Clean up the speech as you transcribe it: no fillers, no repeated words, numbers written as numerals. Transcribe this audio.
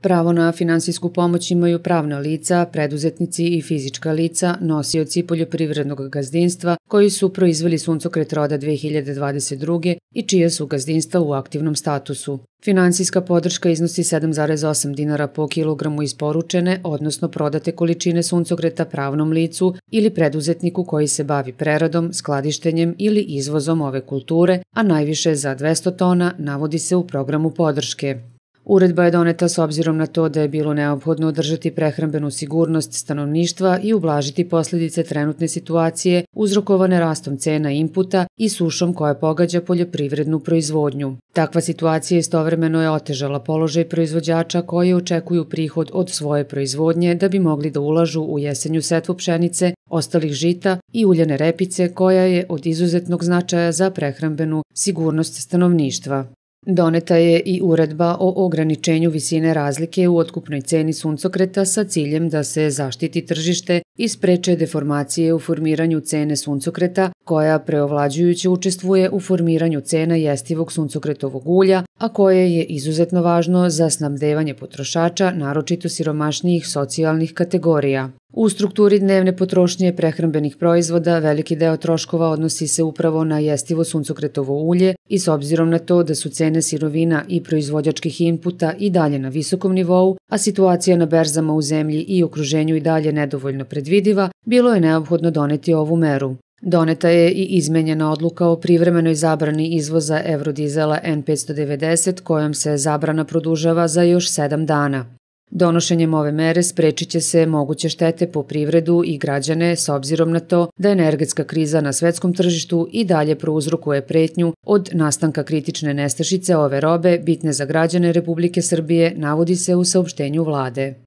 Pravo na finansijsku pomoć imaju pravna lica, preduzetnici i fizička lica, nosioci poljoprivrednog gazdinstva koji su proizveli suncokret roda 2022. i čije su gazdinstva u aktivnom statusu. Finansijska podrška iznosi 7,8 dinara po kilogramu isporučene, odnosno prodate količine suncokreta pravnom licu ili preduzetniku koji se bavi preradom, skladištenjem ili izvozom ove kulture, a najviše za 200 tona, navodi se u programu podrške. Uredba je doneta s obzirom na to da je bilo neophodno održati prehrambenu sigurnost stanovništva i ublažiti posljedice trenutne situacije uzrokovane rastom cena inputa i sušom koja pogađa poljoprivrednu proizvodnju. Takva situacija istovremeno je otežala položaj proizvođača koji očekuju prihod od svoje proizvodnje da bi mogli da ulažu u jesenju setvu pšenice, ostalih žita i uljane repice koja je od izuzetnog značaja za prehrambenu sigurnost stanovništva. Doneta je i uredba o ograničenju visine razlike u otkupnoj ceni suncokreta sa ciljem da se zaštiti tržište i spreče deformacije u formiranju cene suncokreta, koja preovlađujuće učestvuje u formiranju cena jestivog suncokretovog ulja, a koje je izuzetno važno za snabdevanje potrošača, naročito siromašnijih socijalnih kategorija. U strukturi dnevne potrošnje prehrambenih proizvoda veliki deo troškova odnosi se upravo na jestivo suncokretovo ulje i s obzirom na to da su cene sirovina i proizvođačkih inputa i dalje na visokom nivou, a situacija na berzama u zemlji i okruženju i dalje nedovoljno predvidiva, bilo je neophodno doneti ovu meru. Doneta je i izmenjena odluka o privremenoj zabrani izvoza eurodizela N590 kojom se zabrana produžava za još 7 dana. Donošenjem ove mere sprečit će se moguće štete po privredu i građane s obzirom na to da energetska kriza na svetskom tržištu i dalje prouzrokuje pretnju od nastanka kritične nestašice ove robe bitne za građane Republike Srbije, navodi se u saopštenju vlade.